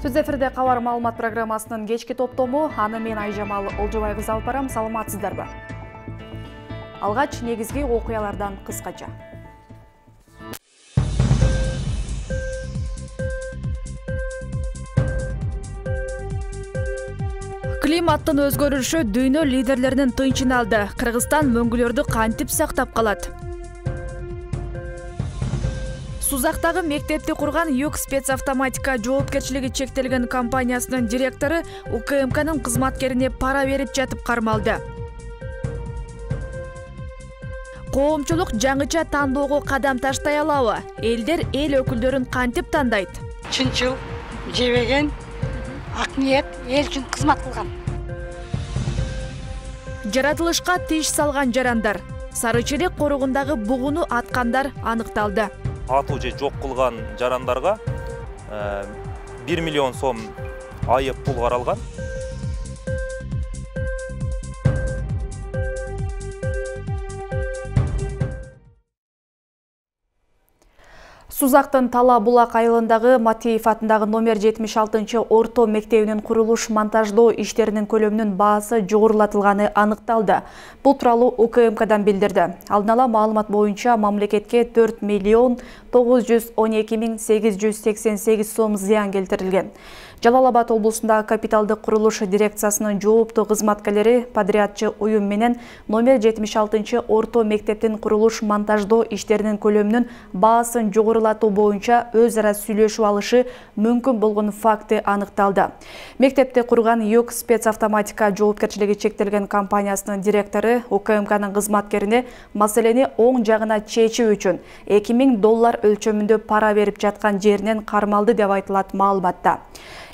Түз эфирде кабар маалымат программасынын кечки топтому, аны мен Айжамал Олжобай кызы алып барам. Саламатсыздарбы? Алгач негизги окуялардан кыскача. Климаттын өзгөрүшү дүйнө лидерлеринин тынчын алды. Кыргызстан мөңгүлөрдү кантип сактап калат? Сузактагы мектепти курган Юг спецавтоматика жоопкерчилиги чектелген компаниясынын директору УКМКнын кызматкерине пара берип жатып кармалды. Коомчулук жаңыча тандоого кадам таштай алабы? Элдер эл өкүлдөрүн кантип тандайт? Чынчыл, жебеген, ак ниет, эл үчүн кызмат кылган. Жаратылышка тиш салган жарандар. Сары Черек корогундагы бугуну аткандар аныкталды. Атуу же жок кылган жарандарга 1 миллион сом айып пул каралган. Сузактын Тала Булак айылындагы Матеев атындагы номер 76 орто мектебинин курулуш монтаждоо иштеринин көлөмүнүн баасы жогорулатылганы аныкталды. Бул тууралуу УКМКдан билдирди. Алдын ала маалымат боюнча мамлекетке 4 миллион 912 миң 888 сом зыян келтирилген. Жалал-Абад облусундагы капиталдык курулуш дирекциясынын жооптуу кызматкерлери подрядчы уюм менен номер 76 орто мектептин курулуш монтаждоо иштеринин көлөмүнүн баасын жогорулатуу боюнча өз ара сүйлөшүп алышы мүмкүн болгон факты аныкталды. Мектепти курган Юг спецавтоматика жоопкерчилиги чектелген компаниясынын директору УКМКнын кызматкерине маселени оң жагына чечүү үчүн $2000 өлчөмүндө пара берип жаткан жеринен кармалды деп айтылат маалыматта.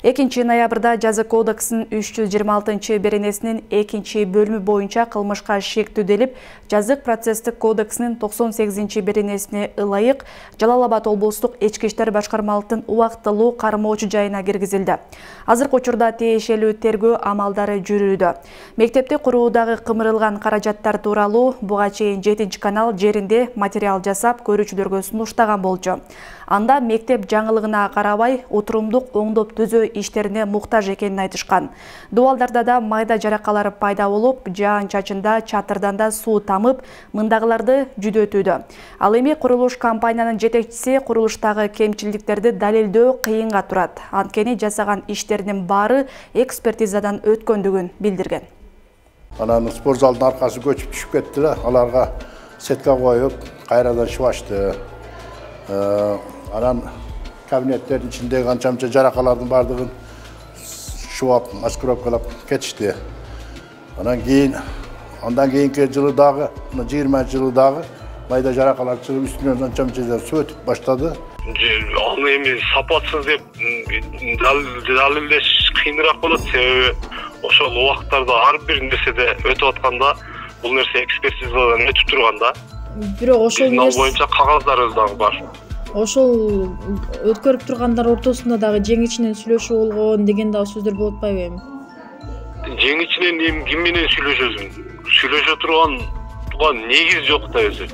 2 ноябрда Жаза кодексинин 326 беренесинин 2 бөлүмү боюнча кылмышка шектүүделип, Жазык процесстик кодексинин 98 беренесине ылайык Жалал-Абад облустук ички иштер башкармалыктын убактылуу кармоочу жайына киргизилди. Азыркы учурда тиешелүү тергөө амалдары жүрүүдө. Мектепти куруудагы кымырылган каражаттар тууралуу буга чейин 7 канал жеринде материал жасап көрүүчүлөргө сунуштаган болчу. Анда мектеп жаңылыгына карабай отурумдук оңдоп түзөө иштерине муктаж экенин айтышкан. Дубалдарда да майда жаракалар пайда болуп, жаан-чачында чатырдан да суу тамып, мындагыларды жүдөтүүдө. Ал эми курулуш компаниянын жетекчиси курулуштагы кемчилдиктерди далилдөө кыйынга турат. Анткени жасаган иштеринин баары экспертизадан өткөндүгүн билдирген. Анан спорт залдын аркасы көчүп түшүп кетти да, аларга сетка коюп, кайрадан шыбашты. Анан кабинеттердин ичиндеги канча жаракалардын бардыгын шубап, маскировкалап кетишти. Андан кийинки жылы дагы, 20 жылы дагы майда жаракалар чыгып үстүнөн канча суу өтүп баштады. Ал эми сапатсыз деп далилдеш кыйыныраак болот, себеби ошол убакыттарда ар бир нерседе өтүп атканда бул нерсе экспертизадан өтүп турганда. Бирок ошол нерсе боюнча кагаздарыбыз дагы бар. Ошол өткөрүп тургандар ортосунда дагы жең ичинен сүйлөшүү болгон деген дагы сөздөр болуп атпайбы эми? Жең ичинен ким менен сүйлөшөсүң? Сүйлөшө турган негиз жок да өзү.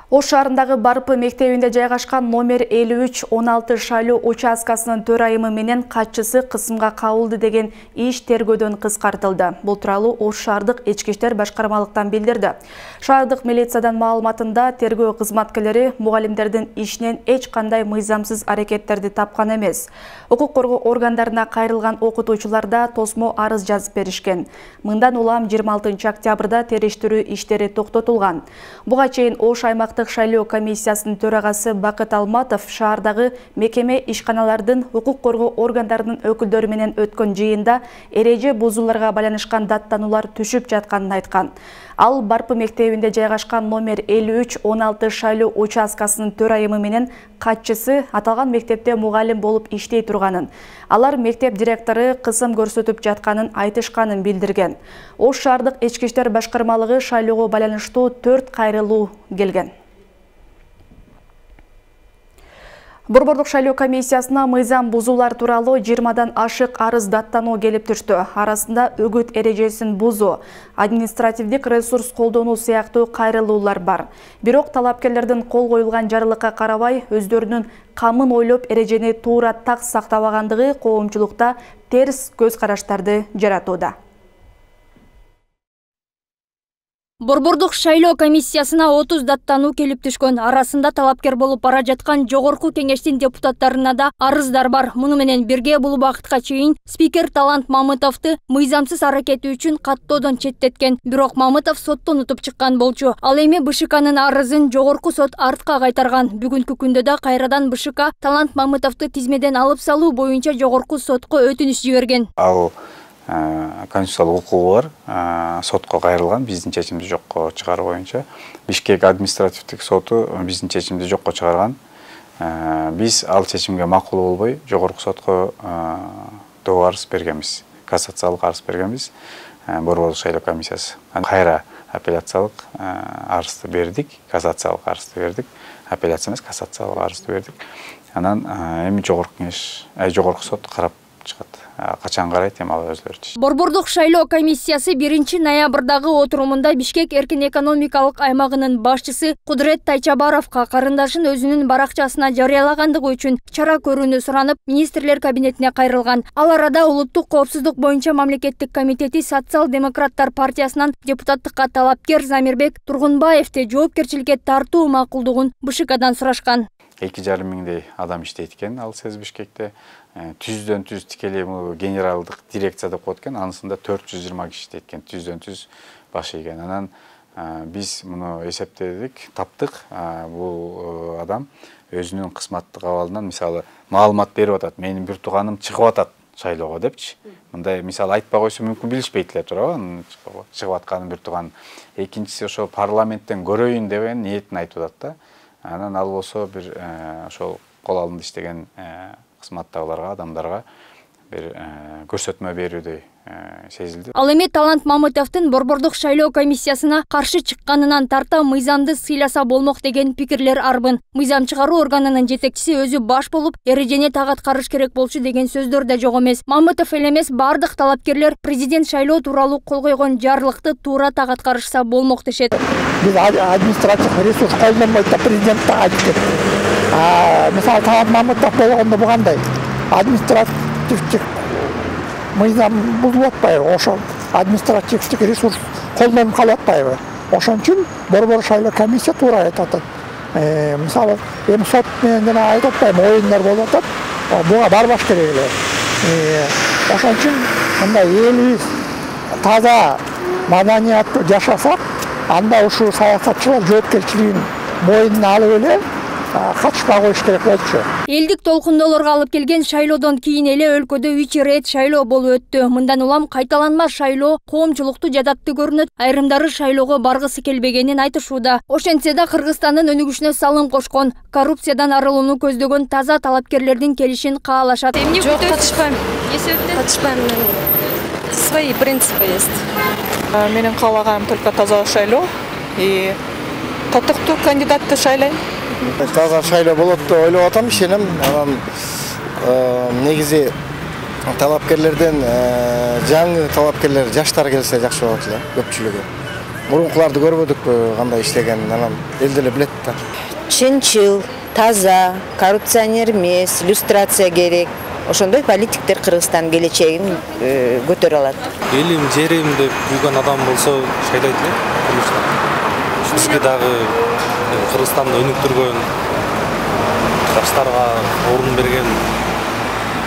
Ош шаарындагы Барпы мектебинде жайгашкан номер 5316 шайлоо участкасынын төрайымы менен катчысы кысымга кабылды деген иш тергөөдөн кыскартылды. Бул тууралуу Ош шаардык ички иштер башкармалыктан билдирди. Шаардык милициядан маалыматында тергөө кызматкерлери мугалимдердин ишинен эч кандай мыйзамсыз аракеттерди тапкан эмес. Укук коргоо органдарына кайрылган окутуучулар да тосмо арыз жазып беришкен. Мындан улам 26 октябрда териштирүү иштери токтотулган. Буга чейин Ош аймактык шайлоо комиссиясынын төрагасы Бакыт Алматов шаардагы мекеме ишканалардын укук коргоо органдарынын өкүлдөрү менен өткөн жыйында эреже бузууларга байланышкан даттануулар түшүп жатканын айткан. Ал Барпы мектебинде жайгашкан номер 5316 шайлоо участкасынын төрайымы менен катчысы аталган мектепте мугалим болуп иштей турганын, алар мектеп директору кысым көрсөтүп жатканын айтышканын билдирген. Ош шаардык ички иштер башкармалыгы шайлоого байланыштуу 4 кайрылуу келген. Борбордук шайлоо комиссиясына мыйзам бузуулар тууралуу 20дан ашык арыз даттануу келип түштү. Арасында үгүт эрежесин бузуу, административдик ресурс колдонуу сыяктуу кайрылуулар бар. Бирок талапкерлердин кол коюлган жарлыкка карабай, өздөрүнүн камын ойлоп эрежени туура так сактабагандыгы коомчулукта терс көз караштарды жаратууда. Борбордук шайлоо комиссиясына 30 даттануу келип түшкөн. Арасында талапкер болуп бара жаткан жогорку кеңештин депутаттарына да арыздар бар. Муну менен бирге бул убакытка чейин спикер Талант Мамытовду мыйзамсыз аракети үчүн каттоодон четтеткен. Бирок Мамытов соттон утуп чыккан болчу. Ал эми БШКнын арызын жогорку сот артка кайтарган. Бүгүнкү күндө да кайрадан БШК Талант Мамытовду тизмеден алып салуу боюнча жогорку сотко өтүнүч жиберген. Ал конституциялык укугу бар, сотко кайрылган, биздин чечимди жокко чыгаруу боюнча. Бишкек административдик соту биздин чечимди жокко чыгарган. Биз ал чечимге макул болбой, жогорку сотко доо арыз бергенбиз, кассациялык арыз бергенбиз. Борбордук шайлоо комиссиясы кайра апелляциялык арызды бердик, кассациялык арызды бердик, апелляция эмес, кассациялык арызды бердик. Анан эми жогорку сот карап чыгат. Качан карайт, эми ал өзлөрү. Борбордук шайлоо комиссиясы 1 ноябрдагы отурумунда Бишкек эркин экономикалык аймагынын башчысы Кудурет Тайчабаровго карындашын өзүнүн баракчасына жарыялагандыгы үчүн чара көрүүнү суранып, министрлер кабинетине кайрылган. Ал арада улуттук коопсуздук боюнча мамлекеттик комитети социал-демократтар партиясынан депутаттыкка талапкер Замирбек Тургунбаевди жоопкерчиликке тартуу макулдугун БШКдан сурашкан. 2,5 миңдей адам иштейт экен ал СЭС Бишкекте. Түздөн түз тикелей генералдык дирекция деп коет экен, анысында 420 киши иштейт экен, түздөн түз башы экен. Анан биз муну эсептедик, таптык. Бул адам өзүнүн кызматтык абалынан, мисалы, маалымат берип атат. Менин бир тууганым чыгып атат шайлоого депчи. Мындай мисалы айтпай койсо мүмкүн билишпейт эле туурабы, чыгып атканын бир тууган. Экинчиси ошо парламенттен көрөйүн деген ниетин айтып атат да. Анан ал болсо бир ошол кол алымда иштеген кызматтагыларга, адамдарга бир көрсөтмө берүүдөй сезилди. Ал эми Талант Мамытовдун Борбордук шайлоо комиссиясына каршы чыкканынан тарта мыйзамды сыйласа болмок деген пикирлер арбын. Мыйзам чыгаруу органынын жетекчиси өзү баш болуп, эрежени так аткарыш керек болчу деген сөздөр да жок эмес. Мамытов эле эмес, бардык талапкерлер президент шайлоо тууралуу кол койгон жарлыкты туура так аткарышса болмок дешет. Биз административдик ресурс колдонбойт да президентти айтып. Мисалы Талант Мамытов болгондо бу кандай? Административдик мыйзам бузулуп атпайбы? Ошол административдик ресурс колдонуп калып атпайбы? Ошон үчүн Борбордук шайлоо комиссия туура айтып атат. Мисалы, эми сот менен жана айтып атпайбы, оюндар болуп атат. Буга барбаш керек эле. Ошон үчүн мындай элибиз таза, маданияттуу жашасак, анда ушул саясатчылар жоопкерчилигин мойнуна алып эле катышпай коюш керек болчу. Элдик толкундоолорго алып келген шайлоодон кийин эле өлкөдө 3 ирет шайлоо болуп өттү. Мындан улам кайталанма шайлоо коомчулукту жадаттуу көрүнөт. Айрымдары шайлоого баргысы келбегенин айтышууда. Ошентсе да Кыргызстандын өнүгүшүнө салым кошкон, коррупциядан арылууну көздөгөн таза талапкерлердин келишин каалашат. Жок, катышпайм. Эмне себептен? Катышпайм. Свои принципы есть. Менин каалаганым только таза шайлоо и татыктуу кандидатты шайлайм. Таза шайлоо болот деп ойлоп атам, ишенем. Анан негизи талапкерлерден жаңы талапкерлер, жаштар келсе жакшы болот эле, көпчүлүгү. Мурункуларды көрбөдүкпү кандай иштегенин, анан эл деле билет да. Чынчыл, таза, коррупционер эмес, иллюстрация керек. Ошондой политиктер Кыргызстан келечегин көтөрө алат. Элим, жерим деп күйгөн адам болсо шайлайт эле. Бизге дагы Кыргызстанды өнүктүргөн жаштарга орун берген.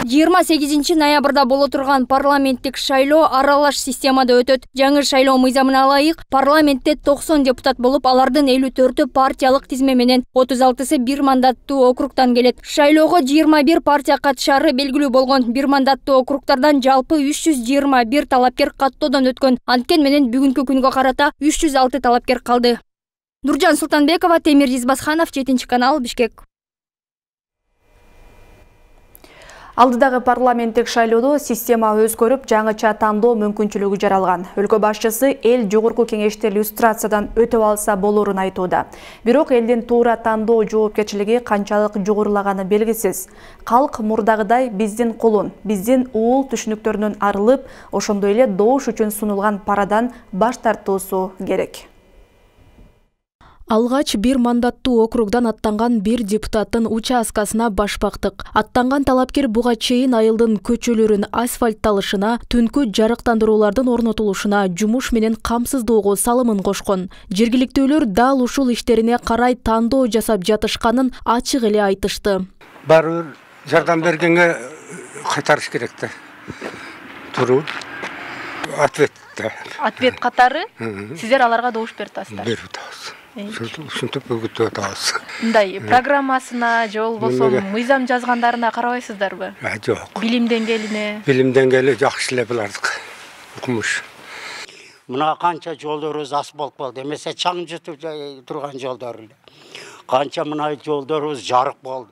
28 ноябрда боло турган парламенттик шайлоо аралаш системада өтөт. Жаңы шайлоо мыйзамына ылайык парламентте 90 депутат болуп, алардын 54-ü партиялык тизме менен 36-сы бир мандаттуу округтан келет. Шайлоого 21 партия катышары белгилүү болгон. Бир мандаттуу округтардан жалпы 321 талапкер каттоодон өткөн. Анткени менен бүгүнкү күнгө карата 306 талапкер калды. Нуржан Султанбекова, Темир Избасханов, 7 канал, Бишкек. Алдыдагы парламенттик шайлоодо система өзгөрүп, жаңыча тандоо мүмкүнчүлүгү жаралган. Өлкө башчысы эл жогорку кеңеште люстрациядан өтүп алса болорун айтууда. Бирок элдин туура тандоо жоопкерчилиги канчалык жогорулаганы белгисиз. Калк мурдагыдай биздин колун, биздин уул түшүнүктөрүнөн арылып, ошондой эле добуш үчүн сунулган парадан баш тартуусу керек. Алгач бир мандаттуу округдан аттанган бир депутаттын участкасына баш бактык. Аттанган талапкер буга чейин айылдын көчөлөрүн асфальтталышына, түнкү жарыктандыруулардын орнотулушуна, жумуш менен камсыздоого салымын кошкон. Жергиликтүүлөр дал ушул иштерине карай тандоо жасап жатышканын ачык эле айтышты. Баары бир жардам бергенге кайтарыш керек да. Туруу. Ответ катары сиздер аларга добуш берип атасыздар. Берип атабыз. Ушинтип өгүтүп атабыз. Мындай программасына же болбосо мыйзам жазгандарына карабайсыздарбы? Жок. Билим деңгээлине? Билим деңгээли жакшы эле булардык. Укмуш. Мына канча жолдорубуз асфальт болду. Эмесе чаң жутуп турган жолдор эле. Канча мына жолдорубуз жарык болду.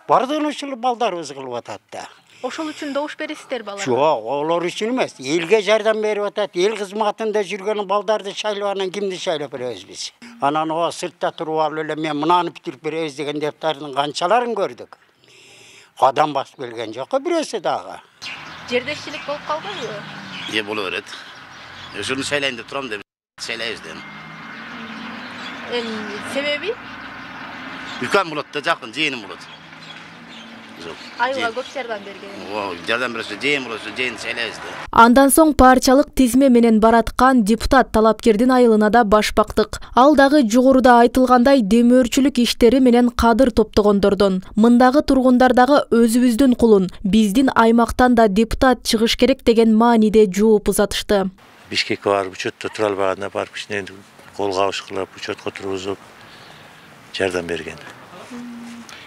Бардыгын ушул балдарыбыз кылып атат да. Ошол үчүн добуш бересиздерби аларга? Жок, олар үчүн эмес. Элге жардам берип атат. Эл кызматында жүргөн балдарды шайлап анан кимди шайлап беребиз биз? Анан о сыртта туруп алып эле мен мынаны бүтүрүп беребиз деген депутаттардын канчаларын көрдүк. Кадам басып келген жок бирөөсү дагы. Жердешчилик болуп калбайбы? Боло берет. Ошону шайлайын деп турам деп шайлайбыз да. Себеби? Үлкөн болот да, жакын жыйыным болот. Айылга көп жардам берген. Жардам берсе жыйын болот, жыйын шайлайбыз да. Андан соң парчалык тизме менен бараткан депутат талапкердин айылына да баш бактык. Ал дагы жогоруда айтылгандай демөөрчүлүк иштери менен кадыр топтогондордон. Мындагы тургундар дагы өзүбүздүн кулун, биздин аймактан да депутат чыгыш керек деген мааниде жооп узатышты. Бишкекке барып учетто тура албаганда барып кичине кол кабыш кылып, учетко тургузуп жардам берген.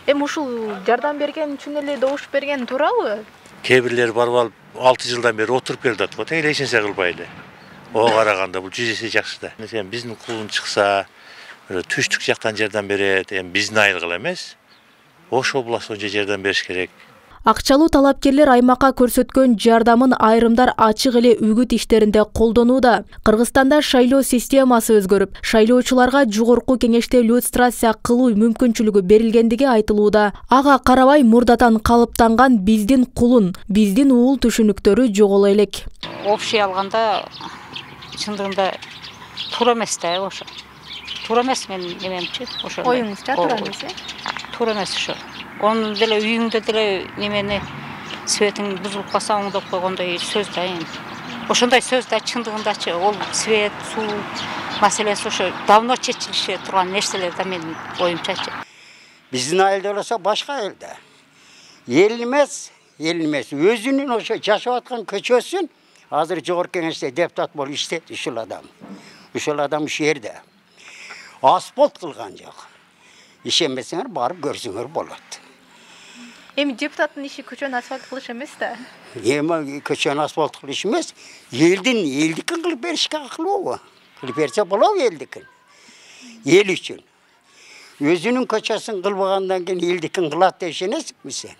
Ушул жардам берген үчүн эле добуш берген туурабы? Кээ бирлер барып алып 6 жылдан бери отуруп келип атат го, эч нерсе кылбай эле. Ого караганда бул 100 эсе жакшы да. Эми биздин кулун чыкса, түштүк жактан жардам берет, эми биздин айылга эмес. Ош областына жардам бериш керек. Акчалуу талапкерлер аймакка көрсөткөн жардамын айрымдар ачык эле үгүт иштеринде колдонууда. Кыргызстанда шайлоо системасы өзгөрүп, шайлоочуларга жогорку кеңеште люстрация кылуу мүмкүнчүлүгү берилгендиги айтылууда. Ага карабай мурдатан калыптанган биздин кулун, биздин уул түшүнүктөрү жоголо элек. Общий алганда чындыгында туура эмес да, ошо. Туура эмес менин немемчи, ошо. Оюңузча туура эмес? Туура эмес ошо. Onun деле үйүңдө деле немени светиң бузулуп калса оңдоп койгондой сөз да эми. Ошондой сөз да чындыгындачы ол свет, суу маселеси ошо давно чечилише турган нерселер да менин оюмчачы. Биздин айылда болсо башка элде. Эл эмес, өзүнүн ошо жашап аткан көчөсүн азыр жогорку кеңеште депутат болуп иштейт ушул адам. Ушул адам ушул жерде. Асфальт кылган жок. Ишенбесеңер барып көрсөңөр болот. Эми депутаттын иши көчөнү асфальт кылыш эмес да. Эми көчөнү асфальт кылыш эмес, элдикин кылып беришке акылбы? Кылып берсе болобу элдикин? Эл үчүн. Өзүнүн көчөсүн кылбагандан кийин элдикин кылат деп ишенесизби сен?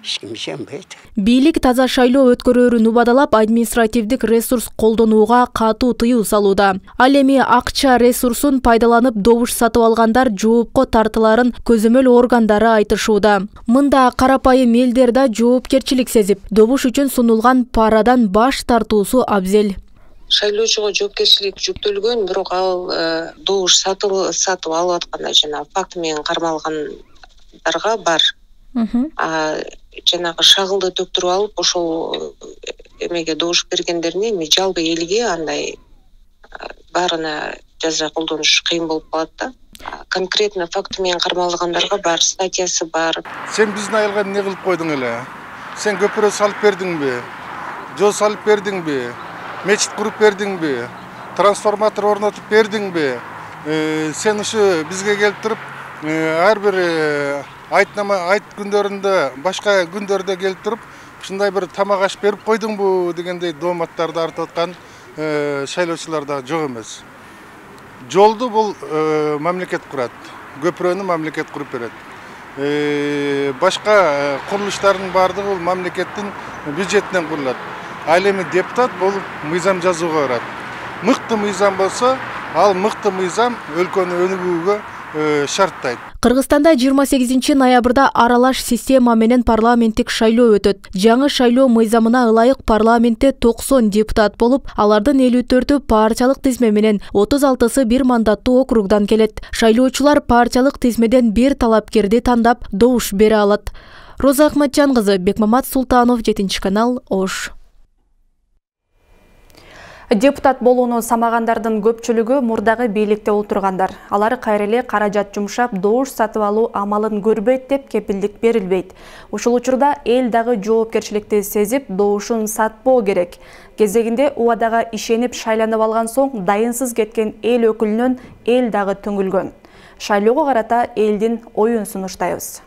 Эч ким ишенбейт. Бийлик таза шайлоо өткөрүүрүн убадалап, административдик ресурс колдонууга катуу тыюу салууда. Ал эми акча ресурсун пайдаланып добуш сатып алгандар жоопко тартыларын көзөмөл органдары айтышууда. Мында карапайым элдер да жоопкерчилик сезип, добуш үчүн сунулган парадан баш тартуусу абзел. Шайлоочуга жоопкерчилик жүктөлгөн, бирок ал добуш сатып алып атканда жана факт менен кармалгандарга бар. Жанагы шагылды төктүрүп алып, ошол эмеге добуш бергендерне эми жалпы элге андай баарына жаза колдонуш кыйын болуп калат да. Конкретно факт менен кармалгандарга бар, статьясы бар. Сен биздин айылга эмне кылып койдуң эле? Сен көпүрө салып бердиңби? Жол салып бердиңби? Мечит куруп бердиңби? Трансформатор орнотуп бердиңби? Сен ушу бизге келип туруп, ар бир айт күндөрүндө, башка күндөрдө келип туруп, ушундай бир тамак аш берип койдуңбу дегендей дооматтарды артып аткан шайлоочулар да жок эмес. Жолду бул мамлекет курат, көпүрөнү мамлекет куруп берет. башка курулуштардын баардыгы бул мамлекеттин бюджетинен курулат. Ал эми депутат болуп мыйзам жазууга барат. Мыкты мыйзам болсо, ал мыкты мыйзам өлкөнү өнүгүүгө шарттайт. Кыргызстанда 28 ноябрда аралаш система менен парламенттик шайлоо өтөт. Жаңы шайлоо мыйзамына ылайык парламентте 90 депутат болуп, алардын 54-ü партиялык тизме менен, 36-сы бир мандаттуу округдан келет. Шайлоочулар партиялык тизмеден бир талапкерди тандап добуш бере алат. Роза Ахматжан кызы, Бекмамат Султанов, 7 канал, Ош. Депутат болууну самагандардын көпчүлүгү мурдагы бийликте отургандар. Алар кайра эле каражат жумшап, добуш сатып алуу амалын көрбөйт деп кепилдик берилбейт. Ушул учурда эл дагы жоопкерчиликти сезип, добушун сатпоо керек. Кезегинде убадага ишенип шайланып алган соң дайынсыз кеткен эл өкүлүнөн эл дагы түңүлгөн. Шайлоого карата элдин оюн сунуштайбыз.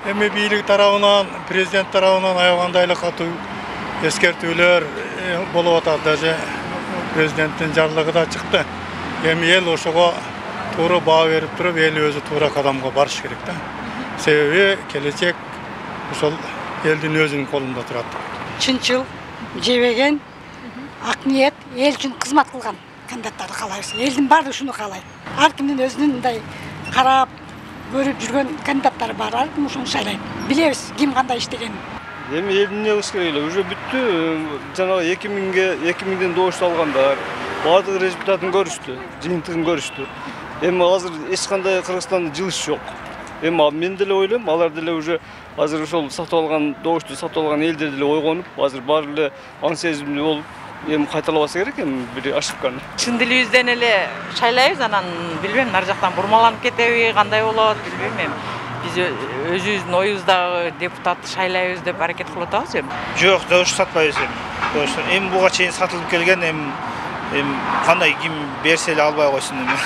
Эми бийлик тарабынан, президент тарабынан аягандай эле катуу эскертүүлөр болуп атат. Даже президенттин жарлыгы да чыкты. Эми эл ошого туура баа берип туруп, эл өзү туура кадамга барыш керек да. Себеби келечек ошол элдин өзүнүн колунда турат. Чынчыл, жебеген, ак ниет, эл үчүн кызмат кылган кандидаттарды каалайбыз. Элдин баардыгы ушуну каалайт. Ар кимдин өзүнүн мындай карап, көрүп жүргөн кандидаттары бар. Ар ким ушуну шайлайт. Билебиз ким кандай иштегенин. Эми элдин не кылыш керек эле, уже бүттү. Жанагы 2000ден добуш алгандар баардык результатын көрүштү, жыйынтыгын көрүштү. Эми азыр эч кандай Кыргызстанда жылыш жок. Эми мен деле ойлойм, алар деле уже азыр ошол сатып алган добушту сатып алган элдер деле ойгонуп, азыр баары эле аң сезимдүү болуп, эми кайталабаса керек эми бир ошибканы. Чын дилибизден эле шайлайбыз, анан билбейм, нар жактан бурмаланып кетеби, кандай болот, билбейм эми. Биз өзүбүздүн оюбуздагы депутатты шайлайбыз деп аракет кылып атабыз эми. Жок, добуш сатпайбыз эми. Эми буга чейин сатылып келген, эми кандай ким берсе эле албай койсун эми.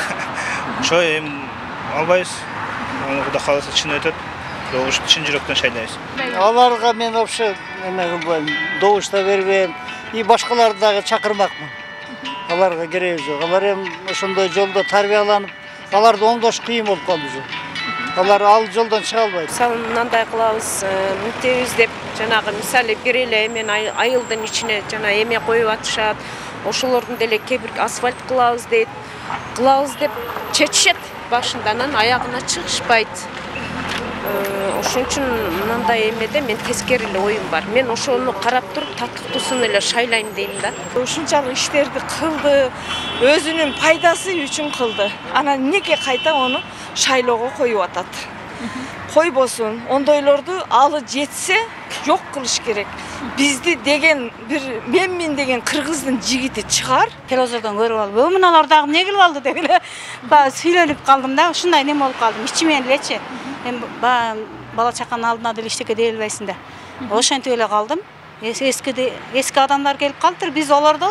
Ошо эми албайбыз. Кудай кааласа чын өтөт. Добушты чын жүрөктөн шайлайбыз. Аларга мен вообще эме кылбайм, добуш да бербейм. И башкаларды дагы чакырмакмын. Аларга кереги жок. Алар эми ошондой жолдо тарбияланып, аларды оңдош кыйын болуп калды уже. Алар ал жолдон чыга албайт. Мисалы мындай кылабыз, мынтебиз деп жанагы мисалы бир эле эмен айылдын ичине жана эме коюп атышат. Ошолордун деле кээ бир асфальт кылабыз дейт. Кылабыз деп чечишет башында, анан аягына чыгышпайт. Ошон үчүн мындай эмеде мен тескери эле оюм бар. Мен ошону карап туруп татыктуусун эле шайлайм дейм да. Ушунчалык иштерди кылды, өзүнүн пайдасы үчүн кылды. Анан эмнеге кайта ону шайлоого коюп атат? Койбосун, ондойлорду алы жетсе жок кылыш керек. Бизди деген бир менмин деген кыргыздын жигити чыгар. Телевизордон көрүп алып, мыналар дагы эмне кылып алды деп эле сүйлөнүп калдым да, ушундай неме болуп калдым. Ичимен элечи. Эми бала чаканын алдына деле эчтеке дей албайсың да. Ошентип эле калдым. Эски адамдар келип калыптыр, биз олорду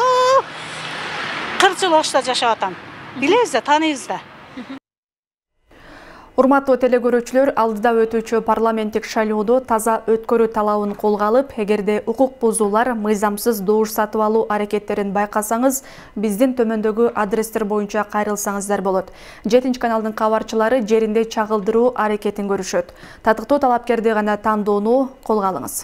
40 жыл Ошто жашап атам. Билебиз да, тааныйбыз да. Урматтуу телекөрүүчүлөр, алдыда өтүүчү парламенттик шайлоодо таза өткөрүү талабын колго алып, эгерде укук бузуулар, мыйзамсыз добуш сатып алуу аракеттерин байкасаңыз, биздин төмөндөгү адрестер боюнча кайрылсаңыздар болот. 7 каналдын кабарчылары жеринде чагылдыруу аракетин көрүшөт. Татыктуу талапкерди гана тандоону колго алыңыз.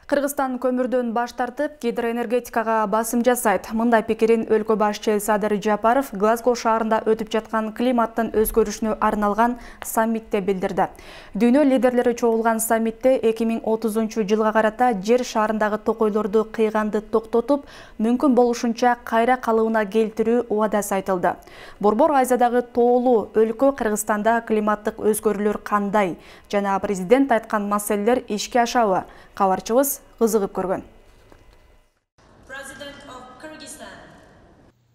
Кыргызстан көмүрдөн баш тартып, гидроэнергетикага басым жасайт. Мындай пикирин өлкө башчы Садыр Жапаров Глазго шаарында өтүп жаткан климаттын өзгөрүшүнө арналган саммитте билдирди. Дүйнө лидерлери чогулган саммитте 2030-жылга карата жер шаарындагы токойлорду кыйганды токтотуп, мүмкүн болушунча кайра калыбына келтирүү убадасы айтылды. Борбор Азиядагы тоолуу өлкө Кыргызстанда климаттык өзгөрүүлөр кандай жана президент айткан маселелер ишке ашабы? Кабарчыбыз кызыгып көргөн.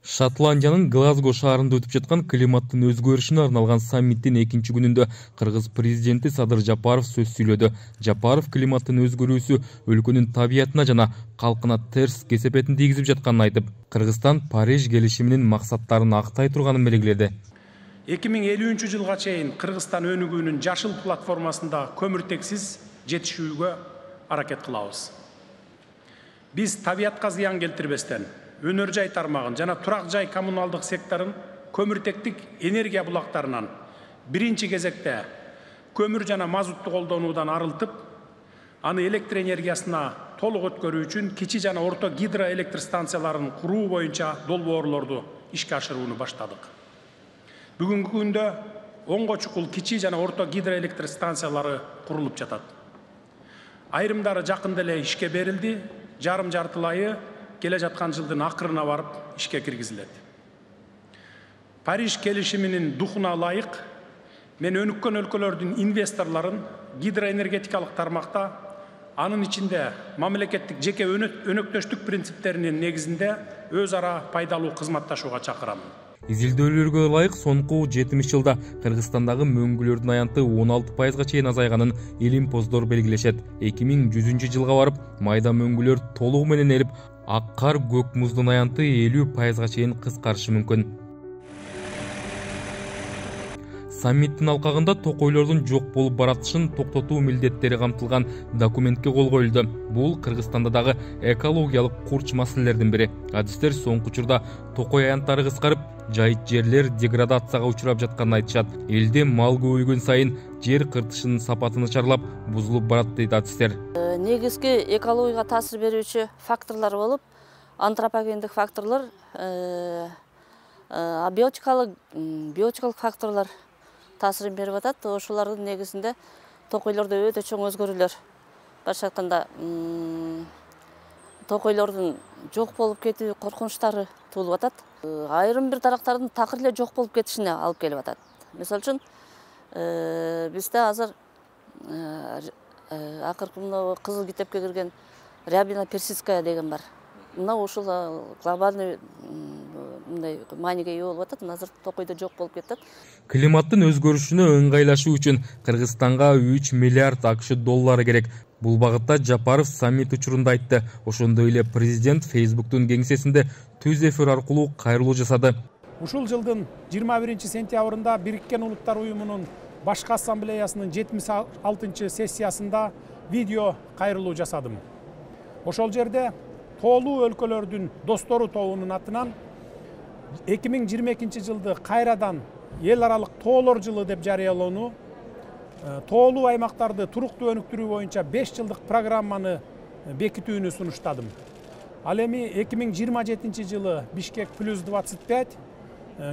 Шотландиянын Глазго шаарында өтүп жаткан климаттын өзгөрүшүнө арналган саммиттин 2-чи күнүндө Кыргыз президенти Садыр Жапаров сөз сүйлөдү. Жапаров климаттын өзгөрүүсү өлкөнүн табиятына жана калкына терс кесепетин тийгизип жатканын айтып, Кыргызстан Париж келишиминин максаттарын актай турганын белгиледи. 2050-жылга чейин Кыргызстан өнүгүүнүн жашыл платформасында көмүртексиз жетишүүгө аракет кылабыз. Биз табиятка зыян келтирбестен, өнөр жай тармагын жана турак жай коммуналдык секторун көмүртектик энергия булактарынан биринчи кезекте көмүр жана мазутту колдонуудан арылтып, аны электр энергиясына толук өткөрүү үчүн кичи жана орто гидроэлектр станцияларын куруу боюнча долбоорлорду ишке ашырууну баштадык. Бүгүнкү күндө 10 чукул кичи жана орто гидроэлектр станциялары курулуп жатат. Айрымдары жакында эле ишке берилди, жарым-жартылайы келе жаткан жылдын акырына барып ишке киргизилет. Париж келишиминин духуна ылайык мен өнүккөн өлкөлөрдүн инвесторлорун гидроэнергетикалык тармакта, анын ичинде мамлекеттик жеке өнөктөштүк принциптеринин негизинде өз ара пайдалуу кызматташууга чакырамын. Изилдөөлөргө ылайык соңку 70 жылда Кыргызстандагы мөңгүлөрдүн аянты 16%га чейин азайганын илимпоздор белгилешет. 2100-жылга барып, майда мөңгүлөр толугу менен эрип, ак кар, көк муздун аянты 50%га чейин кыскарышы мүмкүн. Саммиттин алкагында токойлордун жок болуп баратышын токтотуу милдеттери камтылган документке кол коюлду. Бул Кыргызстанда дагы экологиялык курч маселелердин бири. Адистер соңку учурда токой аянттары кыскарып, жайыт жерлер деградацияга учурап жатканын айтышат. Элде мал көбөйгөн сайын жер кыртышынын сапаты начарлап, бузулуп барат дейт адистер. Негизги экологияга таасир берүүчү факторлор болуп, антропогендик факторлор, биотикалык факторлор таасирин берип атат. Ошолордун негизинде токойлордо өтө чоң өзгөрүүлөр башка айтканда токойлордун жок болуп кетүү коркунучтары туулуп атат. Айрым бир дарактардын такыр эле жок болуп кетишине алып келип атат. Мисалы үчүн бизде азыр акыркы мына кызыл китепке кирген рябина персидская деген бар. Мына ушул глобальный мындай мааниге ээ болуп атат. Азыр токойдо жок болуп кетет. Климаттын өзгөрүшүнө ыңгайлашуу үчүн Кыргызстанга 3 миллиард АКШ доллары керек. Бул багытта Жапаров саммит учурунда айтты. Ошондой эле президент Facebook'тун кеңсесинде түз эфир аркылуу кайрылуу жасады. Ушул жылдын 21-сентябрында Бириккен Улуттар Уюмунун башкы ассамблеясынын 76-сессиясында видео кайрылуу жасадым. Ошол жерде тоолуу өлкөлөрдүн достору тобунун атынан 2022 жылды кайрадан эл аралык тоолор жылы деп жарыялоону, тоолуу аймактарды туруктуу өнүктүрүү боюнча 5 жылдык программаны бекитүүнү сунуштадым. Ал эми 2027 жылы Бишкек плюс 25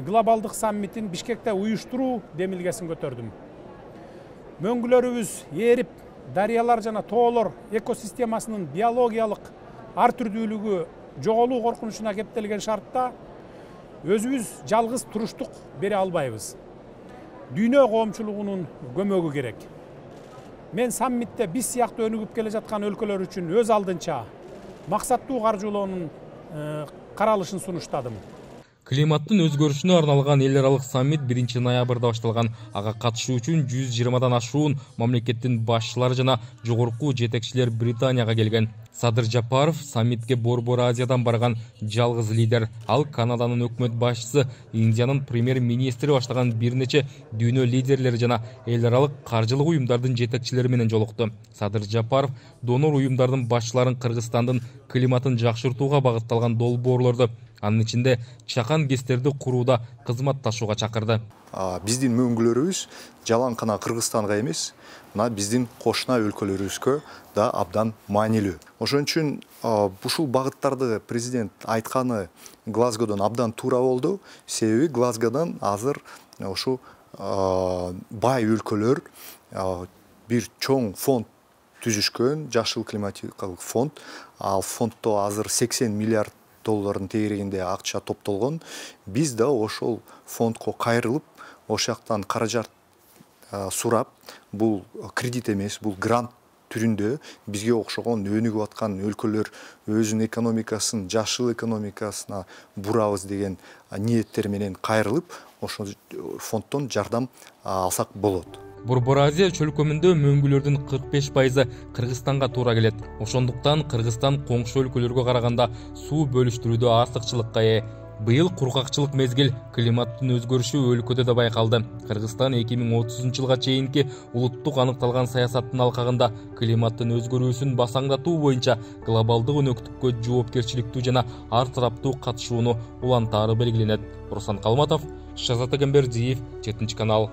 глобалдык саммитин Бишкекте уюштуруу демилгесин көтөрдүм. Мөңгүлөрүбүз эрип, дарыялар жана тоолор экосистемасынын биологиялык ар түрдүүлүгү жоголуу коркунучуна кептелген шартта өзүбүз жалгыз туруштук бере албайбыз. Дүйнө коомчулугунун көмөгү керек. Мен саммитте биз сыяктуу өнүгүп келе жаткан өлкөлөр үчүн өз алдынча максаттуу каржылоонун каралышын сунуштадым. Климаттын өзгөрүшүнө арналган эл аралык саммит 1-ноябрда башталган. Ага катышуу үчүн 120дан ашуун мамлекеттин башчылары жана жогорку жетекчилер Британияга келген. Садыр Жапаров саммитке Борбор Азиядан барган жалгыз лидер. Ал Канаданын өкмөт башчысы, Индиянын премьер-министри баштаган бир нече дүйнө лидерлери жана эл аралык каржылык уюмдардын жетекчилери менен жолукту. Садыр Жапаров донор уюмдардын башчыларын Кыргызстандын климатын жакшыртууга багытталган долбоорлорду, анын ичинде чакан кестерди курууда кызматташууга чакырды. Биздин мөңгүлөрүбүз жалаң гана Кыргызстанга эмес, мына биздин кошуна өлкөлөрүбүзгө да абдан маанилүү. Ошон үчүн ушул багыттарды президент айтканы Глазгодон абдан туура болду. Себеби Глазгодон азыр ушу бай өлкөлөр бир чоң фонд түзүшкөн, жашыл климатикалык фонд. Ал фонддо азыр 80 миллиард доллардын тегерегинде акча топтолгон. Биз да ошол фондко кайрылып, ошактан каражат сурап, бул кредит эмес, бул грант түрүндө бизге окшогон өнүгүп аткан өлкөлөр өзүнүн экономикасын жашыл экономикасына бурабыз деген ниеттер менен кайрылып, ошол фонддон жардам алсак болот. Борбор Азия чөлкөмүндө мөңгүлөрдүн 45% Кыргызстанга туура келет. Ошондуктан Кыргызстан коңшу өлкөлөргө караганда суу бөлүштүрүүдө артыкчылыкка ээ. Быйыл кургакчылык мезгил, климаттын өзгөрүшү өлкөдө да байкалды. Кыргызстан 2030 жылга чейинки улуттук аныкталган саясаттын алкагында климаттын өзгөрүүсүн басаңдатуу боюнча глобалдык өнөктүккө жоопкерчиликтүү жана ар тараптуу катышууну улантаары белгиленет. Руслан Калматов, Шазат Эгембердиев, 7 канал.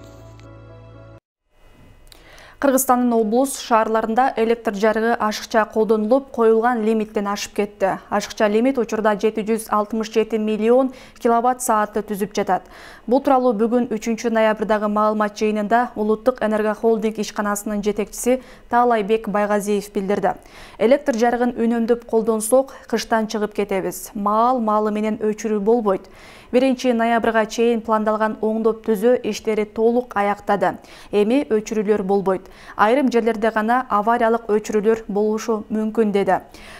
Кыргызстандын облус шаарларында электр жарыгы ашыкча колдонулуп, коюлган лимиттен ашып кетти. Ашыкча лимит учурда 767 миллион киловатт саатты түзүп жатат. Бул тууралуу бүгүн 3 ноябрдагы маалымат жыйынында Улуттук энергохолдинг ишканасынын жетекчиси Таалайбек Байгазиев билдирди. Электр жарыгын үнөмдөп колдонсок, кыштан чыгып кетебиз. Маал менен өчүрүү болбойт. 1 ноябрга чейин пландалган оңдоп түзөө иштери толук аяктады. Эми өчүрүүлөр болбойт. Айрым жерлерде гана авариялык өчүрүүлөр болушу мүмкүн деди.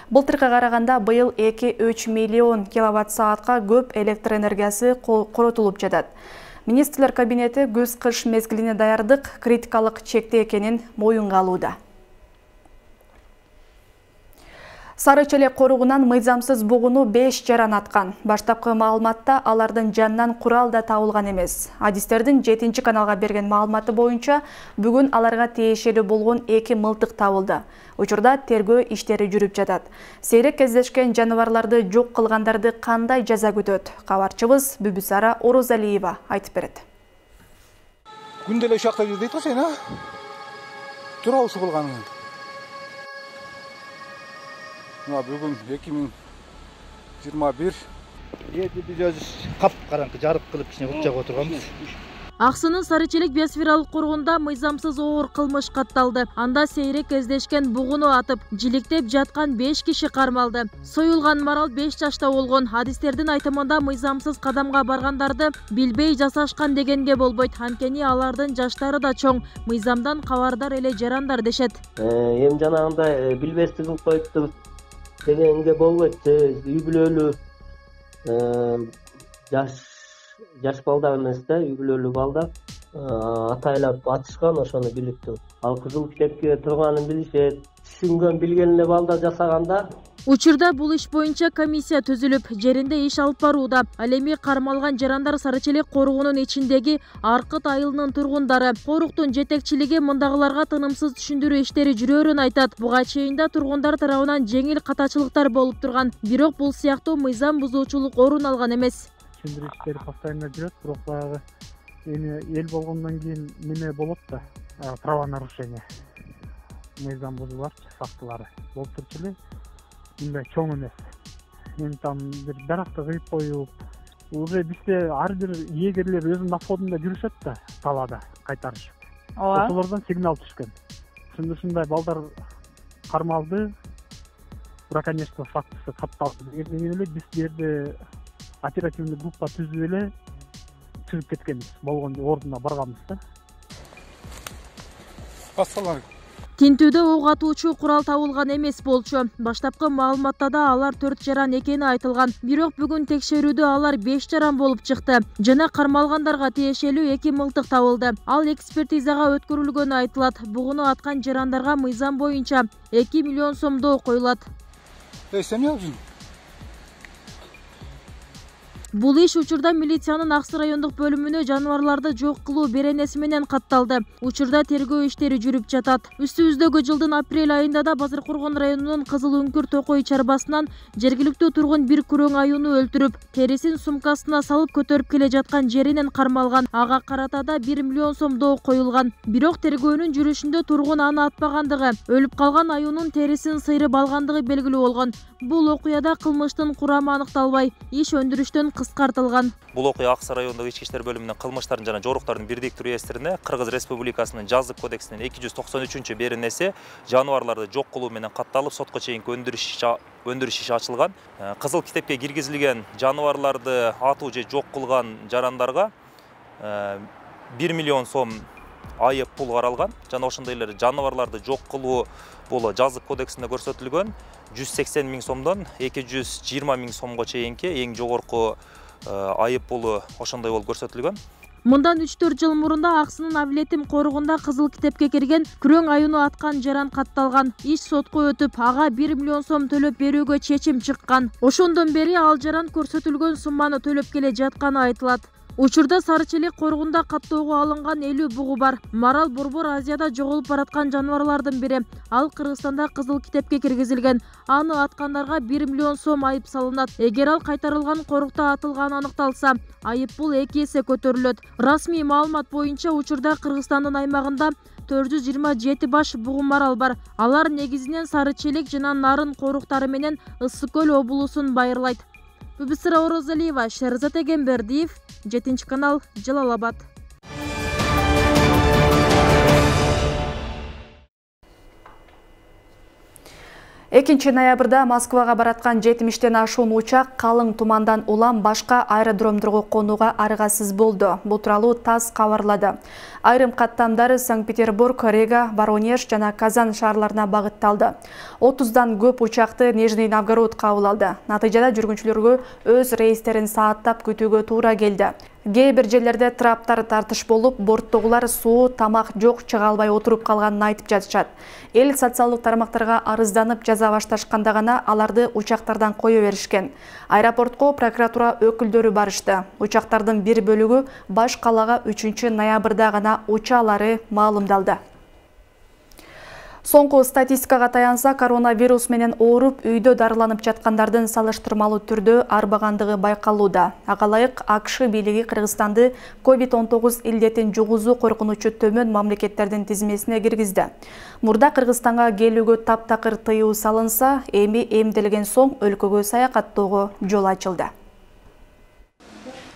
Былтыркыга караганда быйыл 2-3 миллион киловатт саатка көп электр энергиясы коротулуп жатат. Министрлер кабинети күз-кыш мезгилине даярдык критикалык чекте экенин моюнга алууда. Сары Челек коругунан мыйзамсыз бугуну 5 жаран аткан. Баштапкы маалыматта алардын жанынан курал да табылган эмес. Адистердин 7 каналга берген маалыматы боюнча бүгүн аларга тиешелүү болгон 2 мылтык табылды. Учурда тергөө иштери жүрүп жатат. Сейрек кездешкен жаныбарларды жок кылгандарды кандай жаза күтөт? Кабарчыбыз Бүбүсара Орозалиева айтып берет. Күндө эле ушакта жүр дейт го сен, а? Тура ушу кылганың. Бүгүн 2021 биз өзүбүз кап-караңкы жарык кылып кичине бутчага отурганбыз. Аксынын Сары Челек биосфералык коргондо мыйзамсыз оор кылмыш катталды. Анда сейрек кездешкен бугуну атып, жиликтеп жаткан 5 киши кармалды. Союлган марал 5 жашта болгон. Адистердин айтымында мыйзамсыз кадамга баргандарды билбей жасашкан дегенге болбойт. Анткени алардын жаштары да чоң, мыйзамдан кабардар эле жарандар дешет. Эми жанагындай билбестигин коюптур дегенге болбойт. Үй бүлөлүү жаш балдар эмес да, үй бүлөлүү балдар атайлап атышкан, ошону билиптир. Ал кызыл китепке турганын билишет. Түшүнгөн билгенине балдар жасаганда. Учурда бул иш боюнча комиссия түзүлүп, жеринде иш алып барууда. Ал эми кармалган жарандар Сары Челек коругунун ичиндеги Аркыт айылынын тургундары. Коруктун жетекчилиги мындагыларга тынымсыз түшүндүрүү иштери жүрөөрүн айтат. Буга чейин да тургундар тарабынан жеңил катачылыктар болуп турган. Бирок бул сыяктуу мыйзам бузуучулук орун алган эмес. Түшүндүрүү иштери постоянно жүрөт, бирок баягы эми эл болгондон кийин неме болот да, правонарушение. Мыйзам бузууларчы фактылары болуп турчу эле. Мындай чоң эмес. Эми там бир даракты кыйып коюп, уже бизде ар бир эгерлер өзүнүн обходунда жүрүшөт да, талаада кайтарышып. Ошолордон сигнал түшкөн. Ушундай балдар кармалды, браконьерство фактысы катталды дегенден эле биз бу жерде оперативный группа түзүп эле чыгып кеткенбиз. Болгон ордуна барганбыз да. Ассалам. Тинтүүдө ок атуучу курал табылган эмес болчу. Баштапкы маалыматта да алар 4 жаран экени айтылган. Бирок бүгүн текшерүүдө алар 5 жаран болуп чыкты. Жана кармалгандарга тиешелүү 2 мылтык табылды. Ал экспертизага өткөрүлгөнү айтылат. Бугуну аткан жарандарга мыйзам боюнча 2 миллион сомдоо коюлат. Бул иш учурда милициянын Аксы райондук бөлүмүнө жаныбарларды жок кылуу беренеси менен катталды. Учурда тергөө иштери жүрүп жатат. Үстүбүздөгү жылдын апрель айында да Базаркоргон районунун Кызыл Үңкүр Токой чарбасынан жергиликтүү тургун бир күрөң аюуну өлтүрүп, терисин сумкасына салып көтөрүп келе жаткан жеринен кармалган. Ага карата да 1 миллион сомдоо коюлган. Бирок тергөөнүн жүрүшүндө тургун аны атпагандыгы, өлүп калган аюунун терисин сыйрып алгандыгы белгилүү болгон. Бул окуяда кылмыштын курамы аныкталбай, иш өндүрүштөн кыскартылган. Бул окуя Аксы райондук ички иштер бөлүмүнүн кылмыштардын жана жоруктардын бирдиктүү реестрине Кыргыз Республикасынын жазык кодексинин 293 беренеси жаныбарларды жок кылуу менен катталып, сотко чейинки өндүрүш иши ачылган. Кызыл китепке киргизилген жаныбарларды атуу же жок кылган жарандарга 1 миллион сом айып пул каралган. Жана ошондой эле жаныбарларды жок кылуу бул жазык кодексинде көрсөтүлгөн 180 миң сомдон 220 миң сомго чейинки эң жогорку айып пулу ошондой болуп көрсөтүлгөн. Мындан 3-4 жыл мурунда Аксынын Авлетим коругунда кызыл китепке кирген күрөң аюуну аткан жаран катталган. Иш сотко өтүп, ага 1 миллион сом төлөп берүүгө чечим чыккан. Ошондон бери ал жаран көрсөтүлгөн сумманы төлөп келе жатканы айтылат. Учурда Сары Челек коргунда каттоого алынган 50 бугу бар. Марал борбор Азияда жоголуп бараткан жаныбарлардын бири. Ал Кыргызстанда кызыл китепке киргизилген. Аны аткандарга 1 миллион сом айып салынат. Эгер ал кайтарылган корукта атылганы аныкталса, айып бул 2 эсе көтөрүлөт. Расмий маалымат боюнча учурда Кыргызстандын аймагында 427 баш бугу марал бар. Алар негизинен Сары Челек жана Нарын коруктары менен Ысык көл облусун байырлайт. Бүбүсира Орозалиева, Шерзат Эгембердиев, 7-канал, Жалал-Абад. 2 ноябрда Москвага бараткан 70-тен ашуун учак калың тумандан улам башка аэродромдорго конууга аргасыз болду. Бул тууралуу ТАСС кабарлады. Айрым каттамдар Санкт-Петербург, Рига, Воронеж жана Казан шаарларына багытталды. 30дан көп учакты Нижний Новгород кабыл алды. Натыйжада жүргүнчүлөргө өз рейстерин сааттап күтүүгө туура келди. Кээ бир жерлерде траптар тартыш болуп, борттогулар суу, тамак жок чыга албай отуруп калганын айтып жатышат. Эл социалдык тармактарга арызданып жаза башташканда гана аларды учактардан кое беришкен. Аэропортко прокуратура өкүлдөрү барышты. Учактардын бир бөлүгү баш калаага 3 ноябрда гана учаалары маалымдалды. Соңку статистикага таянса, коронавирус менен ооруп үйдө дарыланып жаткандардын салыштырмалуу түрдө арбагандыгы байкалууда. Ага ылайык АКШ бийлиги Кыргызстанды COVID-19 илдетин жугузуу коркунучу төмөн мамлекеттердин тизмесине киргизди. Мурда Кыргызстанга келүүгө таптакыр тыюу салынса, эми эмделген соң өлкөгө саякаттоого жол ачылды.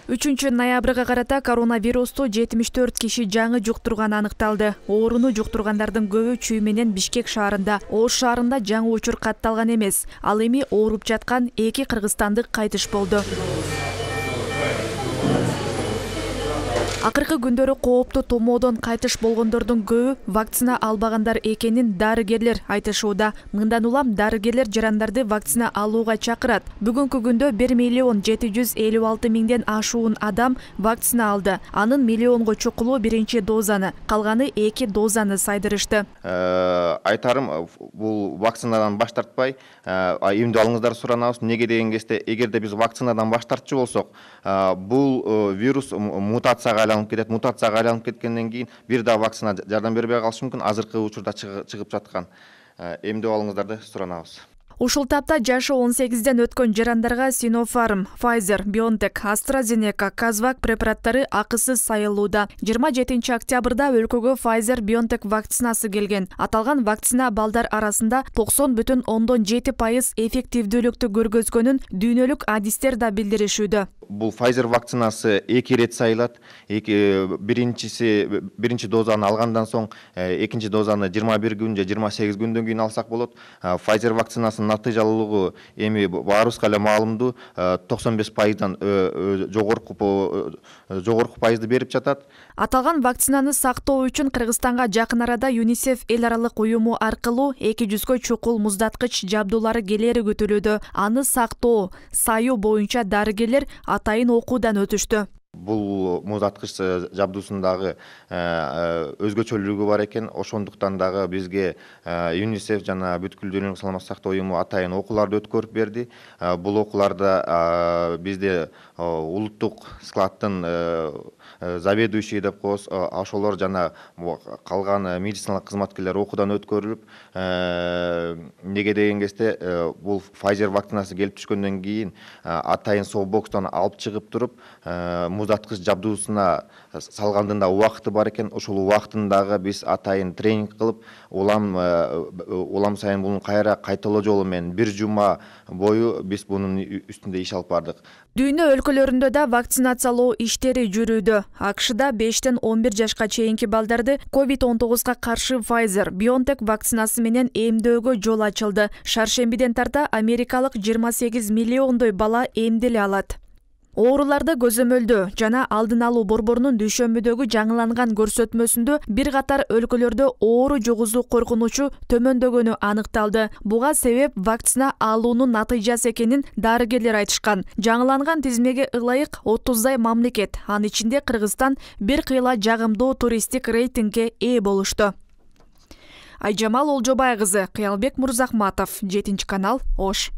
3 ноябрга карата коронавирусту 74 киши жаңы жуктурганы аныкталды. Ооруну жуктургандардын көбү Чүй менен Бишкек шаарында, Ош шаарында жаңы учур катталган эмес. Ал эми ооруп жаткан 2 кыргызстандык кайтыш болду. Акыркы күндөрү кооптуу томоодон кайтыш болгондордун көбү вакцина албагандар экенин дарыгерлер айтышууда. Мындан улам дарыгерлер жарандарды вакцина алууга чакырат. Бүгүнкү күндө 1.756.000ден ашуун адам вакцина алды. Анын миллионго чукулу 1-чи дозаны, калганы 2 дозаны сайдырышты. Айтарым, бул вакцинадан баш тартпай, эмне алыңыздар суранабыз. Неге деген кезде, эгерде биз вакцинадан баш тартчу болсок, бул вирус мутацияга мутацияга айланып кеткенден кийин бир да вакцина жардам бербей калышы мүмкүн. Азыркы учурда чыгып жаткан эмдөө алыңыздарды суранабыз. Ушул тапта жашы 18ден өткөн жарандарга Sinopharm, Pfizer, BioNTech, AstraZeneca, Kazvak препараттары акысыз сайылууда. 27 октябрда өлкөгө Pfizer, BioNTech вакцинасы келген. Аталган вакцина балдар арасында 90,7% эффективдүүлүктү көргөзгөнүн дүйнөлүк адистер да билдиришүүдө. Бул Pfizer вакцинасы 2 рет сайылат. Биринчи дозаны алгандан соң, экинчи дозаны 21 күн же 28 күндөн кийин алсак болот. Pfizer вакцинасынын натыйжалуулугу эми баарыбызга эле маалымдуу, 95%дан жогорку пайызды берип жатат. Аталган вакцинаны сактоо үчүн Кыргызстанга жакын арада ЮНИСЕФ эл аралык уюму аркылуу 200гө чукул муздаткыч жабдуулары келери күтүлүүдө. Аны сактоо, саюу боюнча дарыгерлер атайын окуудан өтүштү. Бул муздаткыч жабдуусундагы өзгөчөлүгү бар экен. Ошондуктан дагы бизге ЮНИСЕФ жана бүткүл дүйнөлүк саламаттык сактоо уюму атайын окууларды өткөрүп берди. Бул окууларда бизде улуттук складдын заведующий деп коебуз, ошолор жана калган медициналык кызматкерлер окуудан өткөрүлүп, неге деген кезде бул Pfizer вакцинасы келип түшкөндөн кийин атайын софтбокстон алып чыгып туруп, муздаткыч жабдуусуна салгандын да убакыты бар экен. Ошол убактындагы биз атайын тренинг кылып, улам сайын буну кайталоо жолу менен 1 жума бою биз бунун үстүндө иш алып бардык. Дүйнө өлкөлөрүндө да вакцинациялоо иштери жүрүүдө. АКШда 5-тен 11 жашка чейинки балдарды COVID-19га каршы Pfizer, BioNTech вакцинасы менен эмдөөгө жол ачылды. Шаршембиден тарта америкалык 28 миллиондой бала эмделе алат. Ооруларды көзөмөлдөө жана алдын алуу борборунун дүйшөмбүдөгү жаңыланган көрсөтмөсүндө бир катар өлкөлөрдө оору жугузуу коркунучу төмөндөгөнү аныкталды. Буга себеп вакцина алуунун натыйжасы экенин дарыгерлер айтышкан. Жаңыланган тизмеге ылайык 30дай мамлекет, анын ичинде Кыргызстан бир кыйла жагымдуу туристтик рейтингге ээ болушту. Айжамал Олжобай кызы, Кыялбек Мурзахматов, 7 канал, Ош.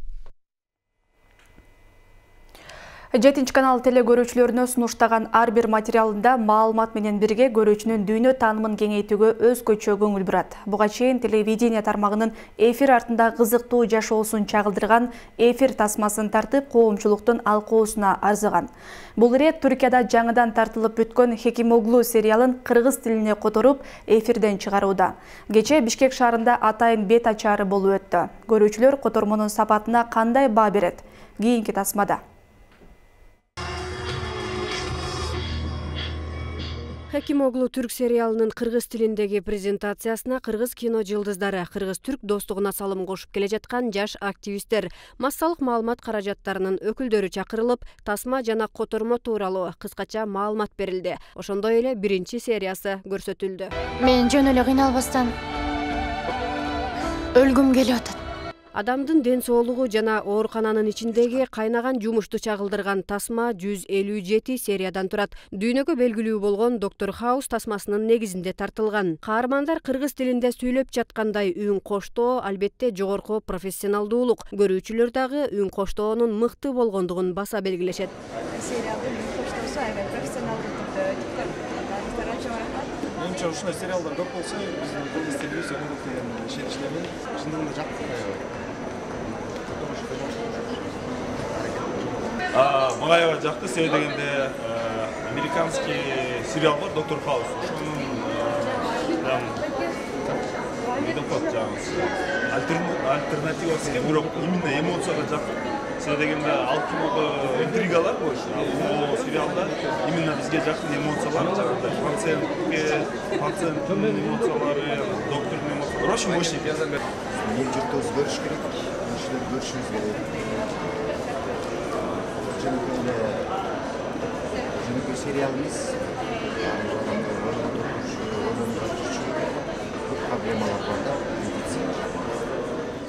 7 канал телегөрүүчүлөрүнө сунуштаган ар бир материалында маалымат менен бирге көрүүчүнүн дүйнө таанымын кеңейтүүгө өзгөчө көңүл бурат. Буга чейин телевидение тармагынын эфир артында кызыктуу жашоосун чагылдырган эфир тасмасын тартып, коомчулуктун алкоосуна арзыган. Бул ирет Түркияда жаңыдан тартылып бүткөн Хекимоглу сериалын кыргыз тилине которуп, эфирден чыгарууда. Кечээ Бишкек шаарында атайын бет ачаары болуп өттү. Көрүүчүлөр котормонун сапатына кандай баа берет? Кийинки тасмада. Хекимоглу түрк сериалынын кыргыз тилиндеги презентациясына кыргыз кино жылдыздары, кыргыз-түрк достугуна салым кошуп келе жаткан жаш активисттер, массалык маалымат каражаттарынын өкүлдөрү чакырылып, тасма жана котормо тууралуу кыскача маалымат берилди. Ошондой эле биринчи сериясы көрсөтүлдү. Мен жөн эле кыйналбастан өлгүм келип атат. Адамдын ден соолугу жана оорукананын ичиндеги кайнаган жумушту чагылдырган тасма 157 сериядан турат. Дүйнөгө белгилүү болгон Доктор Хаус тасмасынын негизинде тартылган. Каармандар кыргыз тилинде сүйлөп жаткандай үн коштоо албетте жогорку профессионалдуулук. Көрүүчүлөр дагы үн коштоонун мыкты болгондугун баса белгилешет. Сериалдын үн коштоосу аябай профессионалдуу түрдө Менимче ушундай сериалдар көп болсо, биздин кыргыз тилибиз өнүгөт деген ишеничтемин. Чындыгында жактырат. Мага аябай жакты, себеби дегенде американский сериал бар Доктор Хаус. Ошонун альтернативасы экен, бирок именно эмоцияга жакын. Себеби дегенде ал кинодо интригалар бар. Ал сериалда именно бизге жакын эмоциялар, жагандай пациенттин эмоциялары, доктордун эмоциялары. Очень мощный. Эл журтта өзгөрүш керек, кишилер көрүшүбүз керек. Жөнөкөй сериалыбыз проблемалар бар да.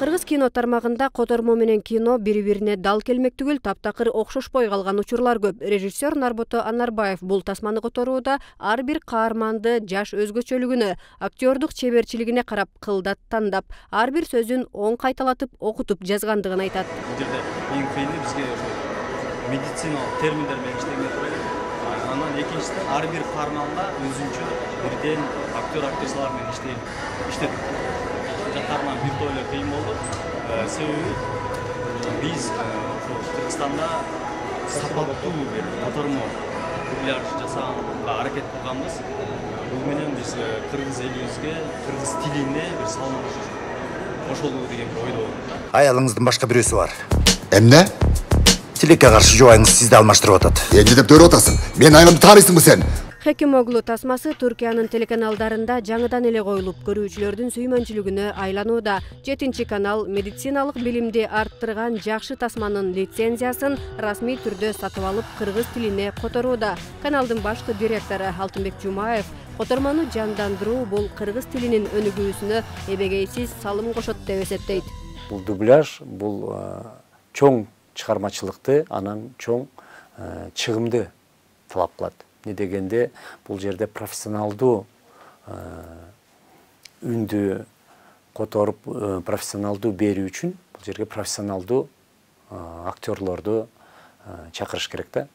Кыргыз кино тармагында котормо менен кино бири-бирине дал келмек түгүл, таптакыр окшошпой калган учурлар көп. Режиссер Нарбото Анарбаев бул тасманы которууда ар бир каарманды жаш өзгөчөлүгүнө, актёрдук чеберчилигине карап кылдат тандап, ар бир сөзүн оң кайталатып, окутуп жазгандыгын айтат. Бул жерде эң кыйыны бизге медициналык терминдер менен иштеген турат. Анан экинчиден ар бир каарманга өзүнчө бирден актер-актрисалар менен иштедик. Жактарынан бир тойло кыйын болду. Себеби биз Кыргызстанда сапаттуу бир котормо дубляж жасаганга аракет кылганбыз. Бул менен биз кыргыз элибизге, кыргыз тилине бир салым кошолуу деген бир ойдо. Аялыңыздын башка бирөөсү бар. Эмне? Тилекке каршы жубайыңыз сизди алмаштырып атат. Эмне деп төрөп атасың? Мен айламды таарыйсыңбы сен? Хекимоглу тасмасы Түркиянын телеканалдарында жаңыдан эле коюлуп, көрүүчүлөрдүн сүймөнчүлүгүнө айланууда. 7 канал медициналык билимди арттырган жакшы тасманын лицензиясын расмий түрдө сатып алып, кыргыз тилине которууда. Каналдын башкы директору Алтынбек Жумаев котормону жандандыруу бул кыргыз тилинин өнүгүүсүнө эбегейсиз салым кошот деп эсептейт. Бул дубляж бул чоң чыгармачылыкты, анан чоң чыгымды талап кылат. Не дегенде бул жерде профессионалдуу үндү которуп, профессионалдуу берүү үчүн бул жерге профессионалдуу актерлорду чакырыш керек да.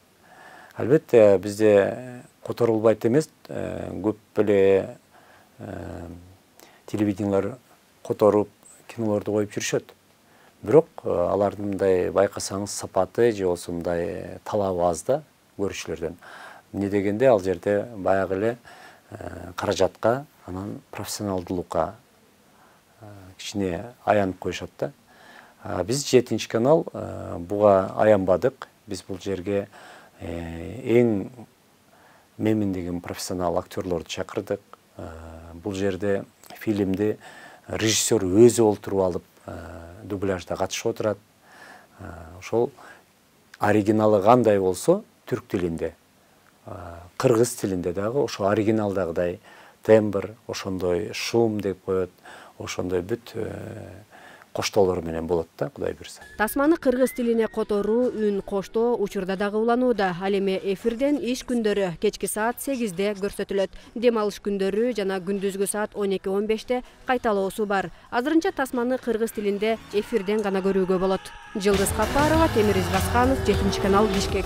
Албетте бизде которулбайт эмес, көп эле телевидениялар которуп, кинолорду коюп жүрүшөт. Бирок алардын мындай байкасаңыз сапаты же болбосо мындай талабы аз да көрүүчүлөрдөн. Не дегенде ал жерде баягы эле каражатка, анан профессионалдуулукка кичине аянып коюшат да. Биз 7 канал буга аянбадык. Биз бул жерге эң мемин деген профессионал актерлорду чакырдык. Бул жерде фильмди режиссер өзү олтуруп алып дубляжда катышып отурат. Ошол оригиналы кандай болсо түрк тилинде, кыргыз тилинде дагы ошо оригиналдагыдай тембр, ошондой шум деп коет, ошондой бүт коштоолор менен болот да, Кудай буйрса. Тасманы кыргыз тилине которуу, үн коштоо учурда дагы уланууда. Ал эми эфирден иш күндөрү кечки саат 8-де көрсөтүлөт. Дем алыш күндөрү жана күндүзгү саат 12-15-те кайталоосу бар. Азырынча тасманы кыргыз тилинде эфирден гана көрүүгө болот. Жылдыз Капарова, Темир Избасканов, 7 канал, Бишкек.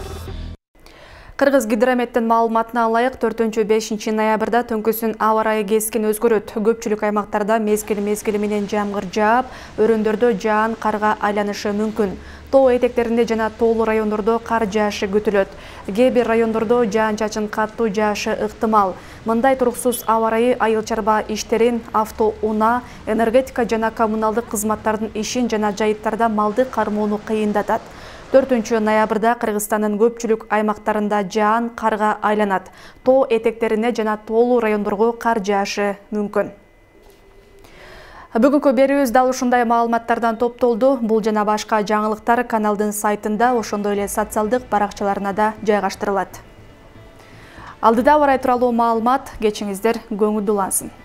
Кыргыз гидрометтин маалыматына ылайык 4-5 ноябрда түнкүсүн аба ырайы кескин өзгөрөт. Көпчүлүк аймактарда мезгил менен жамгыр жаап, өрөөндөрдө жаан карга айланышы мүмкүн. Тоо этектеринде жана тоолуу райондордо кар жаашы күтүлөт. Кээ бир райондордо жаан-чачын каттуу жаашы ыктымал. Мындай туруксуз аба ырайы айыл чарба иштерин, автоунаа, энергетика жана коммуналдык кызматтардын ишин жана жайыттарда малды кармоону кыйындатат. 4 ноябрда Кыргызстандын көпчүлүк аймактарында жаан карга айланат. Тоо этектерине жана тоолуу райондорго кар жаашы мүмкүн. Бүгүнкү берүүбүз дал ушундай маалыматтардан топтолду. Бул жана башка жаңылыктар каналдын сайтында, ошондой эле социалдык баракчаларына да жайгаштырылат. Алдыда аба ырайы тууралуу маалымат, кечиңиздер көңүлдүү улансын.